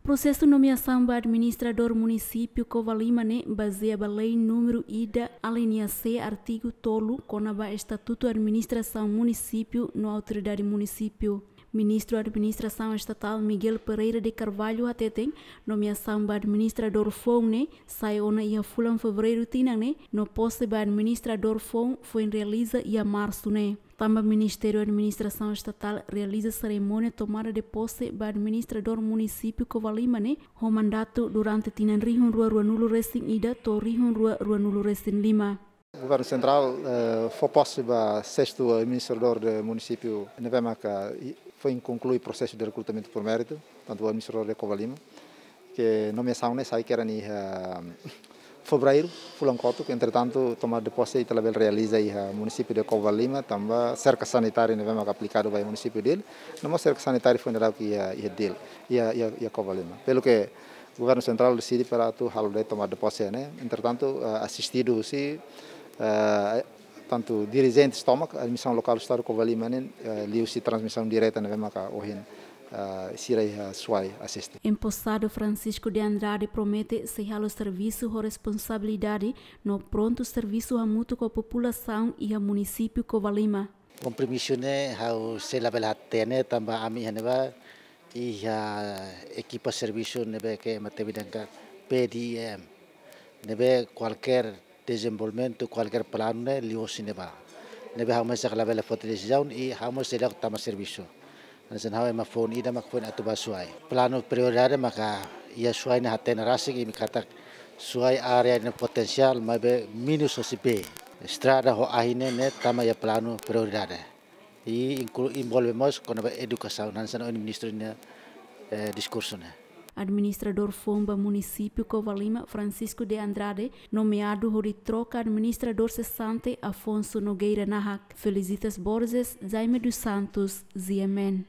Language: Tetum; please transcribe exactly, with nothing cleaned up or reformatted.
Prosesu nomeasaun ba administradór munisípiu Covalima ne'e bazeia ba lei númeru ida, alínea C, artigu tolu, kona-ba Estatutu Administrasaun Munisípiu no Autoridade Munisípiu. Ministru Administrasaun Estatál Miguel Pereira de Carvalho hateten, nomeasaun ba administradór foun ne'e sai ona iha fulan Fevereiru tinan ne'e, no pose ba administradór foun foin realiza iha Marsu ne'e. Tanba Ministériu Administrasaun Estatál realiza serimónia tomada de pose ba administradór munisípiu Covalima ne'e ho mandatu durante tinan rihun rua ruanulu resin ida to'o rihun rua ruanulu resin lima. Governu Sentrál, eh, fó pose ba sestu administradór de munisípiu ne'ebé maka i-, foin konklui prosesu de rekrutamentu por méritu, tantu administradór de Covalima, ke nomeasaun ne'e sai kedas iha, eh, Fevereiru, fulan kotuk, entretantu, tomada de pose ita labele realiza iha munisípiu de Covalima, tanba serka sanitária ne'ebé maka aplikadu ba iha munisípiu Dili, no mós serka sanitária foin dadauk iha, iha Dili, iha, iha, iha Covalima. Pelu ke Governu Sentrál deside para atu halo de'it tomada de pose ne'e. Entretantu, eh, asistidu husi, eh, tantu dirijentes tomak, administrasaun lokál Estadu Covalima ne'e, eh, liuhusi transmisaun direta ne'ebé maka ohin, eh, sira iha Suai asiste. Emposadu Francisco de Andrade promete sei halo servisu ho responsabilidade no prontu servisu hamutuk ho populasaun iha munisípiu Covalima. Kompromisu ne'e ha'u sei labele hatene tanba ami iha ne'ebá iha ekipa servisu ne'ebé ke ema temi dehan ka P D M. Ne'ebé kualkér dezenvolvimentu, kualkér planu ne'e liuhosi ne'ebá. Ne'ebé ha'u mesak labele foti desizaun i ha'u mós seidauk tama servisu. Hanesan ha'u ema foun ida mak foin atu bá Suai. Planu prioridade maka iha Suai ne'e hatene rasik imi katak Suai área ne'e potensiál maibé menus hosi bee. Estrada ho ahi ne'e, ne'e tama iha planu prioridade. I inklu-, envolve mós kona-ba edukasaun, hanesan ohin ministru nia, eh, diskursu ne'e. Administradór foun ba munisípiu Covalima, Francisco de Andrade, nomeadu hodi troka administradór sesante Afonso Nogueira Nahak. Felicitas Borges, Jaime dos Santos, Z M N.